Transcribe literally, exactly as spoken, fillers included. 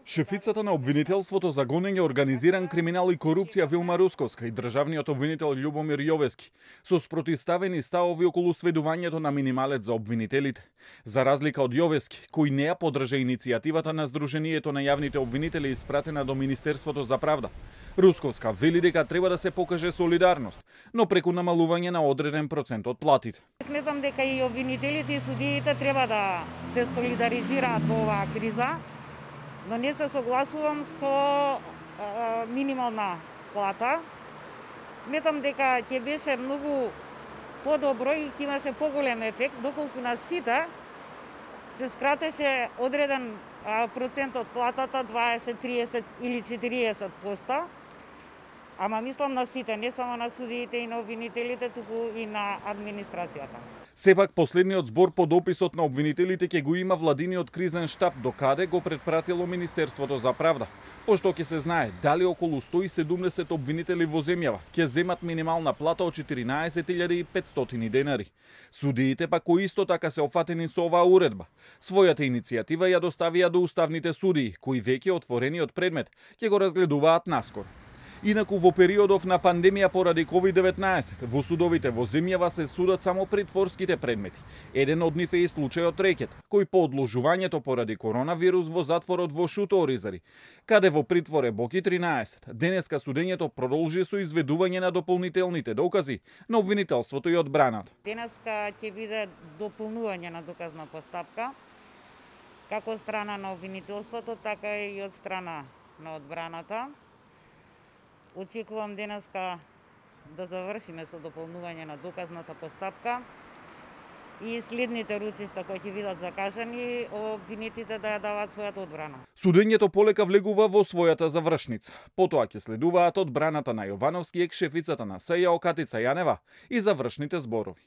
Шефицата на обвинителството за гонење организиран криминал и корупција Вилма Русковска и државниот обвинител Љубомир Јовески со спротивставени ставови околу сведувањето на минималец за обвинителите. За разлика од Јовески, кој не ја поддржа иницијативата на Сдруженијето на јавните обвинители испратена до Министерството за правда, Русковска вели дека треба да се покаже солидарност, но преку намалување на одреден процент од платите. Сметам дека и обвинителите и судиите треба да се солидаризираат во оваа криза, но не се согласувам со е, минимална плата. Сметам дека ќе беше многу подобро и ќе имаше поголем ефект доколку на сите се скратеше одреден е, процент од платата, дваесет, триесет или четириесет проценти. Ама мислам на сите, не само на судиите и на обвинителите, туку и на администрацијата. Сепак последниот збор по дописот на обвинителите ќе го има владиниот кризен штаб, до каде го претпратило Министерството за правда, пошто ќе се знае дали околу сто и седумдесет обвинители во земјава ќе земат минимална плата од четиринаесет илјади и петстотини денари. Судиите пак кои исто така се опфатени со оваа уредба. Својата иницијатива ја доставија до уставните судии, кои веќе отворениот предмет ќе го разгледуваат наскоро. Инаку во периодов на пандемија поради ковид деветнаесет, во судовите во земјава се судат само притворските предмети. Еден од нив е и случајот Рекет, кој по одложувањето поради коронавирус во затворот во Шуто Оризари, каде во притвор е Боки тринаесет. Денеска судењето продолжи со изведување на дополнителните докази на обвинителството и одбраната. Денеска ќе биде дополнување на доказна постапка, како од страна на обвинителството, така и од страна на одбраната. Очекувам денеска да завршиме со дополнување на доказната постапка и следните ручишта кои ќе бидат закажани, обвинетите да ја дават својата одбрана. Судењето полека влегува во својата завршница. Потоа ќе следуваат одбраната на Јовановски, екс-шефицата на СЈО Катица Јанева и завршните зборови.